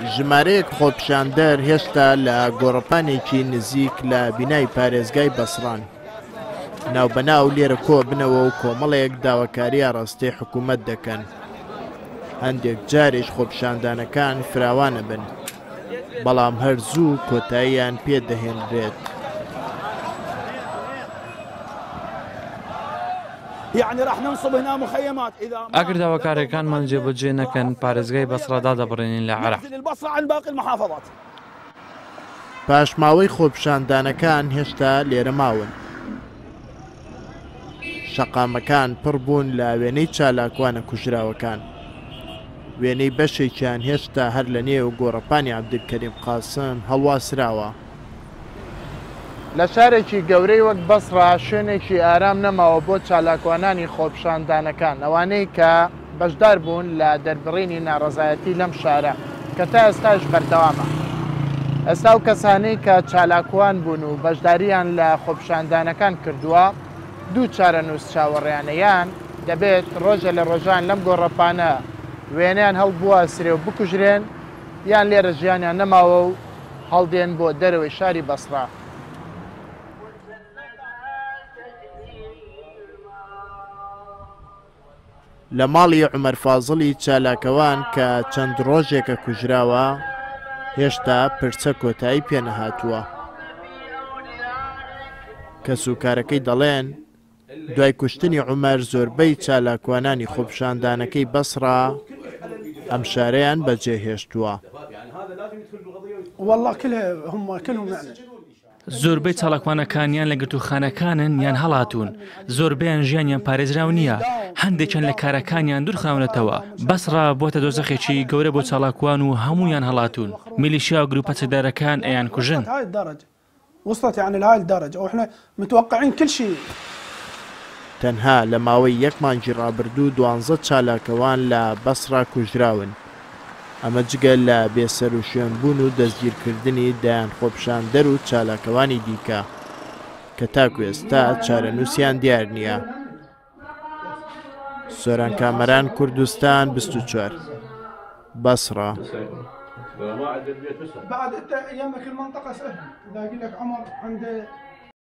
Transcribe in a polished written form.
ژمارەیەک خۆپیشاندەر هێشتا لە گۆڕەپانێکی نزیک لە بینای پارێزگای بەسڕان. ناوبەناو لێرە کۆبنەوە و کۆمەڵێک داواکاری ئاڕاستەی حکوومەت دەکەن. هەندێک جاریش خۆپیشاندانەکان فراوانەبن، بەڵام هەر زوو کۆتاییان پێ دەهێنرێت. ئەگەر داواکارییەکانمان جێبەجێ نەکەن، پارێزگای بەسڕە دادەبڕێنین لە عێراق. پاشماوەی خۆپیشاندانەکان هێشتا لێرە ماون. شەقامەکان پڕ بوون لە وێنەی چالاکوانە کوژراوەکان. وێنەی بەشێکیان هێشتا هەر لە نێو گۆڕەپانی عەبدولکەریم قاسم هەڵواسراوە. لە شارێکی گەورەی وەک بەسڕە شوێنێکی ئارام نەماوە بۆ چالاکوانانی خۆپیشاندانەکان، ئەوانەی کە بەشدار بوون لە دەربڕینی ناڕەزایەتی لەم شارە کە تا ئێستاش بەردەوامە. ئێستا ئەو کەسانەی کە چالاکوان بوون و بەشدارییان لە خۆپیشاندانەکان کردووە دوو چارەنووس چاوەڕێیانە یان دەبێت ڕۆژێ لە ڕۆژان لەم گۆڕەپانە وێنەیان هەڵبواسرێ و بکوژرێن یان لێرە ژیانیان نەماوە و هەڵدێن بۆ دەرەوەی شاری بەسڕە. لە ماڵی عومەر فازڵی چالاکەوان کە چەند ڕۆژێکە کوژراوە، هێشتا پرسە کۆتایی پێنەهاتووە. کەسوکارەکەی دەڵێن، دوای کوشتنی عومەر زۆربەی چالاکوانانی خۆپیشاندانەکەی بەسڕە ئەم شارەیان بەجێهێشتووە. زۆربەی چالاکوانەکان یان لە گرتووخانەکانن یان هەڵاتوون، زۆربەیان ژیانیان پارێزراو نییە، هەندێکیان لە کارەکانیان دوورخراونەتەوە. بەسڕە بووەتە دۆزەخێکی گەورە بۆ چالاکوان و هەموویان هەڵاتوون. میلیشیا و گرووپە چەکدارەکان ئەیانکوژن. تەنها لە ماوەی یەک مانگی ڕابردوو دوانزە چالاکوان لە بەسڕە کوژراون، ئەمە جگە لە بێسەروشوێنبوون و دەستگیرکردنی دەیان خۆپیشاندەر و چالاکوانی دیکە کە تاکو ئێستا چارەنووسیان دیار نییە. سۆران کامەران، کوردستان 24، بەسڕە.